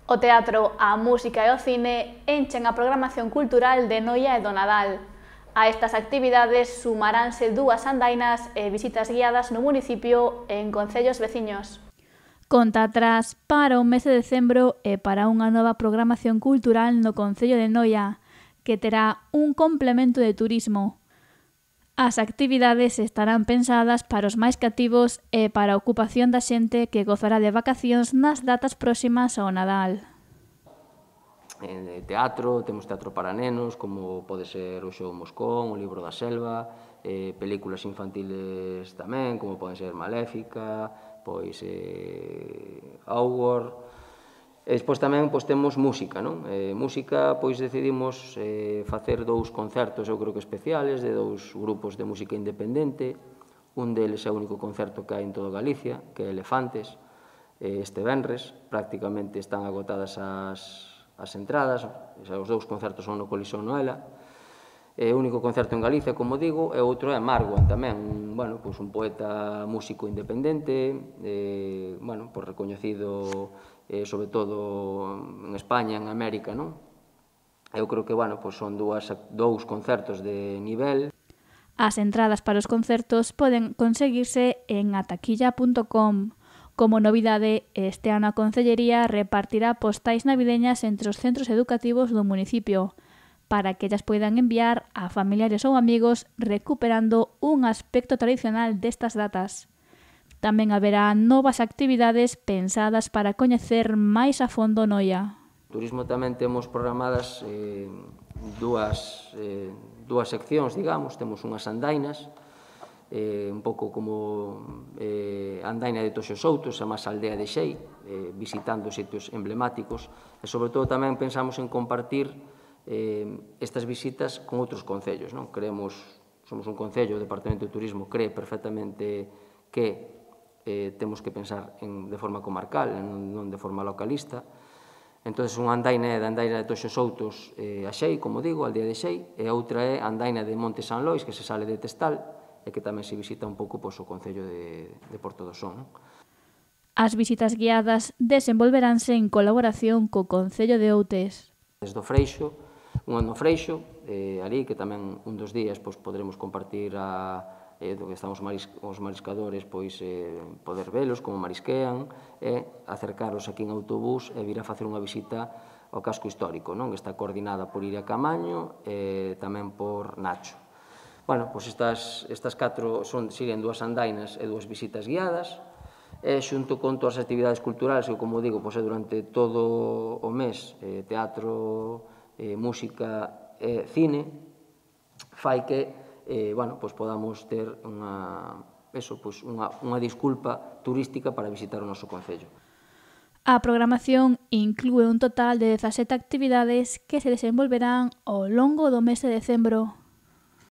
O teatro, a música e o cine enchen a programación cultural de Noia e do Nadal. A estas actividades sumaránse dúas andainas e visitas guiadas no municipio e en concellos veciños. Conta atrás para o mes de decembro e para unha nova programación cultural no concello de Noia, que terá un complemento de turismo. As actividades estarán pensadas para os máis cativos e para a ocupación da xente que gozará de vacacións nas datas próximas ao Nadal. Teatro, temos teatro para nenos, como pode ser o Xo Moscón, o Libro da Selva, películas infantiles tamén, como pode ser Maléfica, pois Augur. E despois tamén temos música, non? Música, pois decidimos facer dous concertos, eu creo que especiales, de dous grupos de música independente. Un deles é o único concerto que hai en toda Galicia, que é Elefantes. Este venres, prácticamente están agotadas as entradas, os dous concertos son no Coliseo Noela. É o único concerto en Galicia, como digo, e outro é Marwan tamén, un poeta músico independente, recoñecido sobre todo en España, en América, non? Eu creo que, son dous concertos de nivel. As entradas para os concertos poden conseguirse en ataquilla.com. Como novidade, este ano a Concellería repartirá postais navideñas entre os centros educativos do municipio, para que ellas poidan enviar a familiares ou amigos recuperando un aspecto tradicional destas datas. Tamén haberá novas actividades pensadas para coñecer máis a fondo Noia. Turismo tamén temos programadas dúas seccións, digamos, temos unhas andainas, un pouco como a andaina de Toxo Souto, a máis aldea de Xei, visitando sitios emblemáticos, e sobre todo tamén pensamos en compartir estas visitas con outros concellos, non? Somos un concello, o Departamento de Turismo cree perfectamente que temos que pensar de forma comarcal, non de forma localista. Entón, unha andaina é da andaina de Toxo Soutos a Xei, como digo, a aldea de Xei, e outra é a andaina de Monte San Lois, que se sale de Testal, e que tamén se visita un pouco o Concello de Porto do Son. As visitas guiadas desenvolveranse en colaboración co Concello de Outes. Desde o Freixo, unha no Freixo, ali, que tamén un dos días poderemos compartir do que están os mariscadores, poder velos como marisquean, e acercaros aquí en autobús e vir a facer unha visita ao casco histórico, que está coordinada por Iria Camaño e tamén por Nacho. Estas 4 siguen dúas andainas e dúas visitas guiadas, e xunto con todas as actividades culturales, que, como digo, é durante todo o mes, teatro, música e cine, fai que podamos ter unha disculpa turística para visitar o noso concello. A programación inclúe un total de 17 actividades que se desenvolverán ao longo do mes de decembro.